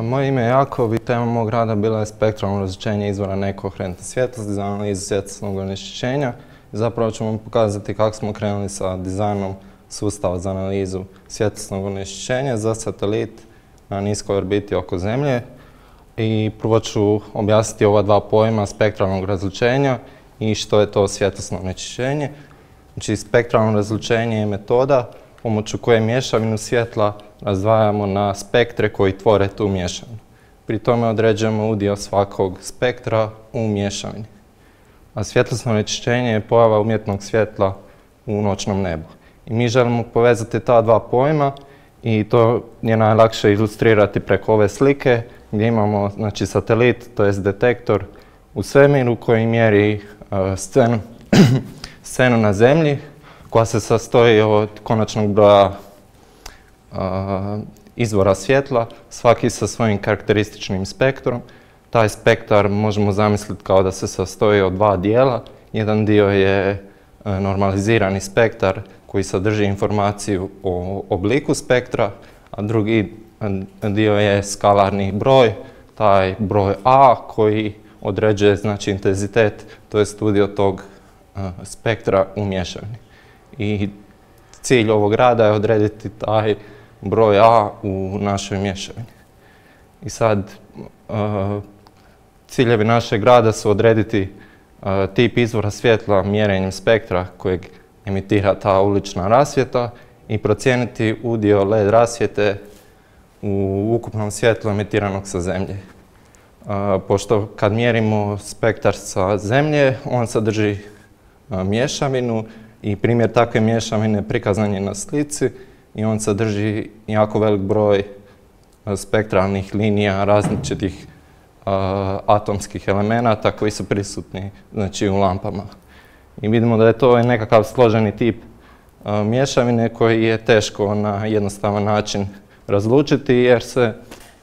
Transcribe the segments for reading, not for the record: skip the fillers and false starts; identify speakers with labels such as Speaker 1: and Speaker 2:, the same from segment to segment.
Speaker 1: Moje ime je Jakov i tema mog rada bila je spektralno različenje izvora nekoherentne svjetlosti za analizu svjetlosnog onečišćenja. Zapravo ću vam pokazati kako smo krenuli sa dizajnom sustava za analizu svjetlosnog onečišćenja za satelit na niskoj orbiti oko Zemlje. I prvo ću objasniti ova dva pojma spektralnog različenja i što je to svjetlosno onečišćenje. Znači, spektralno različenje je metoda pomoću koje mješavinu svjetla razdvajamo na spektre koji tvore tu mješavinu. Pri tome određujemo udio svakog spektra u mješavini. A svjetlosno onečišćenje je pojava umjetnog svjetla u noćnom nebu. I mi želimo povezati ta dva pojma i to je najlakše ilustrirati preko ove slike gdje imamo satelit, to jest detektor u svemiru koji mjeri scenu na Zemlji koja se sastoji od konačnog broja izvora svjetla, svaki sa svojim karakterističnim spektrom. Taj spektar možemo zamisliti kao da se sastoji od dva dijela. Jedan dio je normalizirani spektar koji sadrži informaciju o obliku spektra, a drugi dio je skalarni broj, taj broj A koji određuje intenzitet, to je udio tog spektra u mješavini. I cilj ovog rada je odrediti taj broj A u našoj mješavini. I sad, ciljevi našeg rada su odrediti tip izvora svjetla mjerenjem spektra kojeg emitira ta ulična rasvjeta i procijeniti udio LED rasvjete u ukupnom svjetlu emitiranog sa Zemlje. Pošto kad mjerimo spektar sa Zemlje, on sadrži mješavinu i primjer takve mješavine prikazan je na slici i on sadrži jako velik broj spektralnih linija različitih atomskih elemenata koji su prisutni u lampama. I vidimo da je to nekakav složeni tip mješavine koji je teško na jednostavan način razlučiti jer se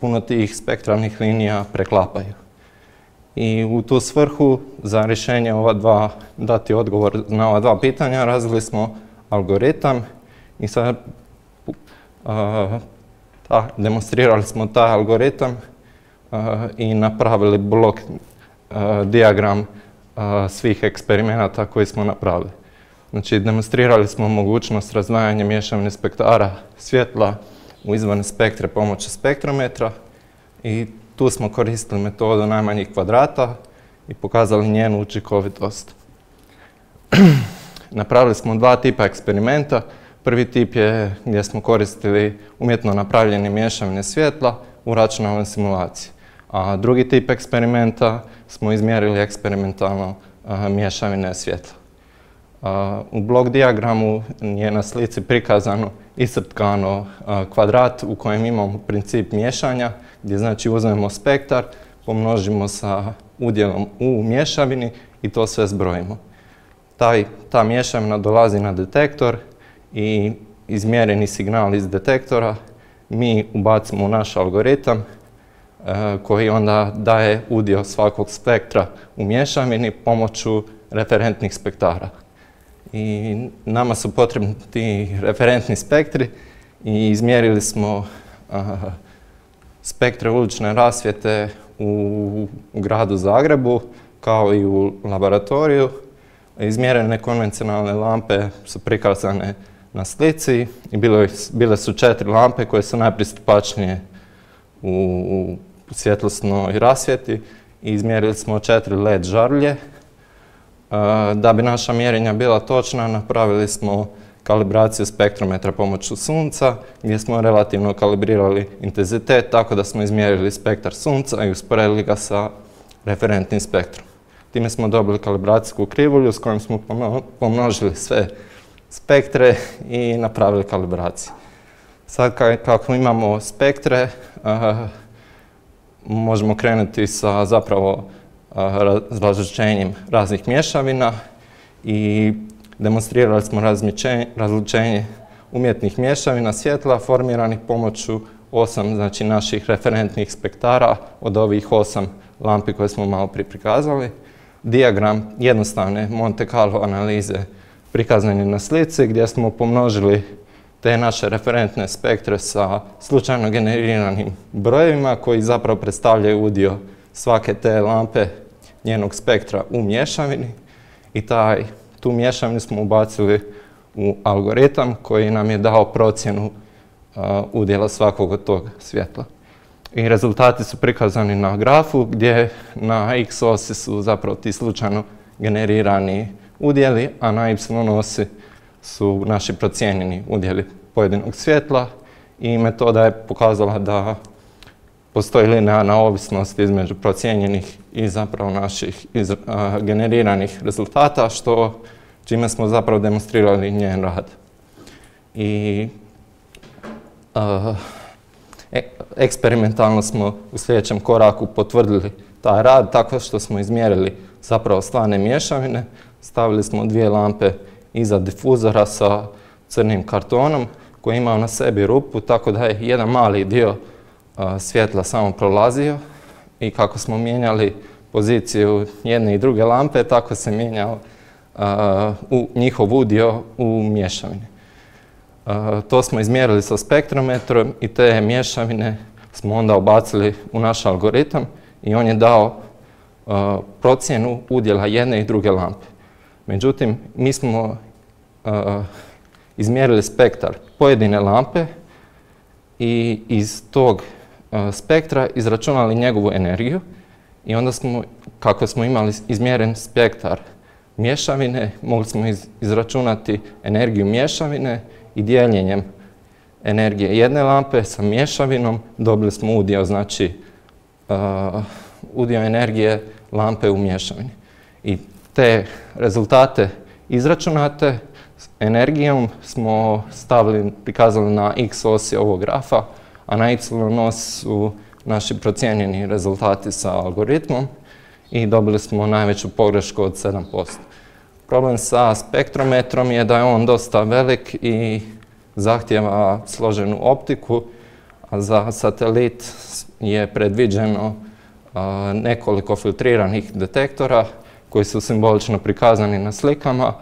Speaker 1: puno tih spektralnih linija preklapaju. I u tu svrhu za rješenje dati odgovor na ova dva pitanja razvili smo algoritam i sad demonstrirali smo taj algoritam i napravili blok dijagram svih eksperimenata koje smo napravili. Znači, demonstrirali smo mogućnost razdvajanja mješavine spektara svjetla u izvorne spektre pomoću spektrometra i tu smo koristili metodu najmanjih kvadrata i pokazali njenu učinkovitost. Napravili smo dva tipa eksperimenta. Prvi tip je gdje smo koristili umjetno napravljene mješavine svjetla u računalnoj simulaciji. A drugi tip eksperimenta smo izmjerili eksperimentalno mješavine svjetla. U blok dijagramu je na slici prikazano iscrtkano kvadrat u kojem imamo princip miješanja, gdje uzmemo spektar, pomnožimo sa udjelom u mješavini i to sve zbrojimo. Ta mješavina dolazi na detektor i izmjereni signal iz detektora mi ubacimo u naš algoritam koji onda daje udio svakog spektra u mješavini pomoću referentnih spektara. I nama su potrebni ti referentni spektri i izmjerili smo spektre ulične rasvjete u gradu Zagrebu kao i u laboratoriju. Izmjerene konvencionalne lampe su prikazane na slici i bile su 4 lampe koje su najpristupačnije u svjetlosnoj rasvjeti i izmjerili smo 4 LED žarulje. Da bi naša mjerenja bila točna, napravili smo kalibraciju spektrometra pomoću Sunca, gdje smo relativno kalibrirali intenzitet tako da smo izmjerili spektar Sunca i usporedili ga sa referentnim spektrom. Time smo dobili kalibracijsku krivulju s kojom smo pomnožili sve spektre i napravili kalibraciju. Sad kako imamo spektre, možemo krenuti sa zapravo različenjem raznih mješavina i demonstrirali smo različenje umjetnih mješavina svjetla formiranih pomoću 8 naših referentnih spektara od ovih 8 lampi koje smo malo prije prikazali. Dijagram jednostavne Monte Carlo analize prikazan je na slici gdje smo pomnožili te naše referentne spektre sa slučajno generiranim brojevima koji zapravo predstavljaju udio svake te lampe njenog spektra u mješavini i tu mješavinu smo ubacili u algoritam koji nam je dao procjenu udjela svakog od tog svjetla. I rezultati su prikazani na grafu gdje na x osi su zapravo ti slučajno generirani udjeli, a na y osi su naši procijenjeni udjeli pojedinog svjetla i metoda je pokazala da postoji linearna ovisnost između procijenjenih i zapravo naših generiranih rezultata, čime smo zapravo demonstrirali njen rad. I eksperimentalno smo u sljedećem koraku potvrdili taj rad tako što smo izmjerili zapravo stvarne mješavine, stavili smo 2 lampe iza difuzora sa crnim kartonom koji je imao na sebi rupu, tako da je jedan mali dio svjetla samo prolazio i kako smo mijenjali poziciju jedne i druge lampe, tako se mijenjao njihov udio u mješavini. To smo izmjerili sa spektrometrom i te mješavine smo onda ubacili u naš algoritam i on je dao procjenu udjela jedne i druge lampe. Međutim, mi smo izmjerili spektar pojedine lampe i iz tog spektra izračunali njegovu energiju i onda smo, kako smo imali izmjeren spektar mješavine, mogli smo izračunati energiju mješavine i dijeljenjem energije jedne lampe sa mješavinom dobili smo udio, znači udio energije lampe u mješavini. I te rezultate izračunate energijom smo prikazali na x osi ovog grafa, a na y os su naši procijenjeni rezultati sa algoritmom i dobili smo najveću pogrešku od 7%. Problem sa spektrometrom je da je on dosta velik i zahtijeva složenu optiku, a za satelit je predviđeno nekoliko filtriranih detektora koji su simbolično prikazani na slikama,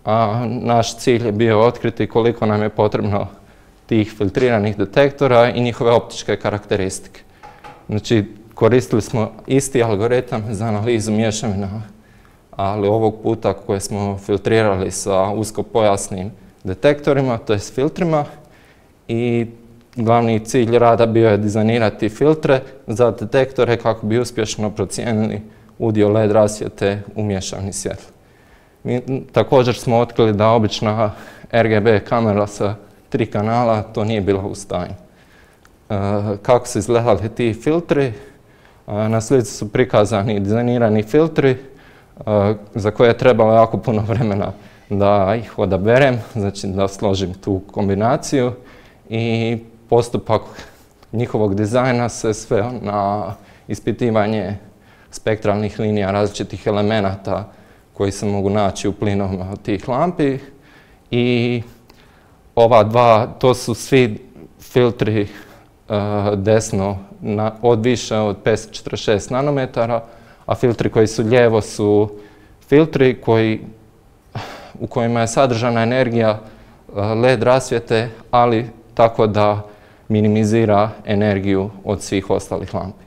Speaker 1: a naš cilj je bio otkriti koliko nam je potrebno tih filtriranih detektora i njihove optičke karakteristike. Znači, koristili smo isti algoritam za analizu mješavina, ali ovog puta koje smo filtrirali sa uskopojasnim detektorima, to je s filtrima, i glavni cilj rada bio je dizajnirati filtre za detektore kako bi uspješno procijenili udio LED rasvjete u mješavini svjetla. Također smo otkrili da obična RGB kamera sa 3 kanala to nije bila u stanju. Kako su izgledali ti filtri? Na slici su prikazani dizajnirani filtri za koje je trebalo jako puno vremena da ih odaberem, znači da složim tu kombinaciju, i postupak njihovog dizajna se sveo na ispitivanje spektralnih linija različitih elemenata koji se mogu naći u plinovima tih lampi, i to su svi filtri desno od više od 546 nanometara, a filtri koji su lijevo su filtri u kojima je sadržana energija LED rasvjete, ali tako da minimizira energiju od svih ostalih lampi.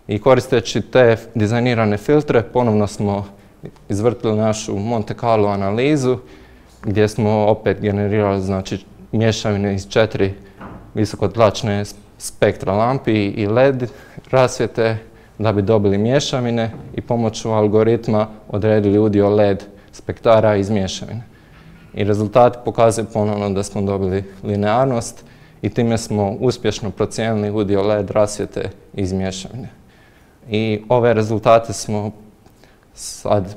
Speaker 1: I koristeći te dizajnirane filtre ponovno smo izvrtili našu Monte Carlo analizu gdje smo opet generirali, znači, mješavine iz 4 visokotlačne spektra lampi i LED rasvjete da bi dobili mješavine i pomoću algoritma odredili udio LED spektara iz mješavine. I rezultati pokazuju ponovno da smo dobili linearnost i time smo uspješno procijenili udio LED rasvjete iz mješavine. I ove rezultate smo sad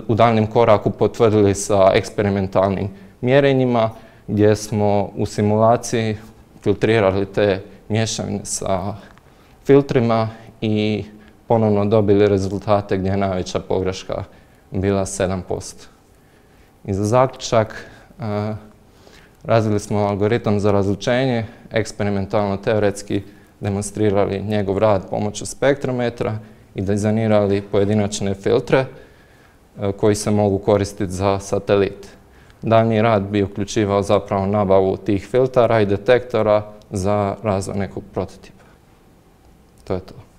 Speaker 1: u daljnjem koraku potvrdili sa eksperimentalnim mjerenjima gdje smo u simulaciji filtrirali te mješavine sa filtrima i ponovno dobili rezultate gdje je najveća pogreška bila 7%. I za zaključak, razvili smo algoritam za razlučenje, eksperimentalno teoretski demonstrirali njegov rad pomoću spektrometra i dizajnirali pojedinačne filtre koji se mogu koristiti za satelit. daljnji rad bi uključivao zapravo nabavu tih filtara i detektora za razvoj nekog prototipa. To je to.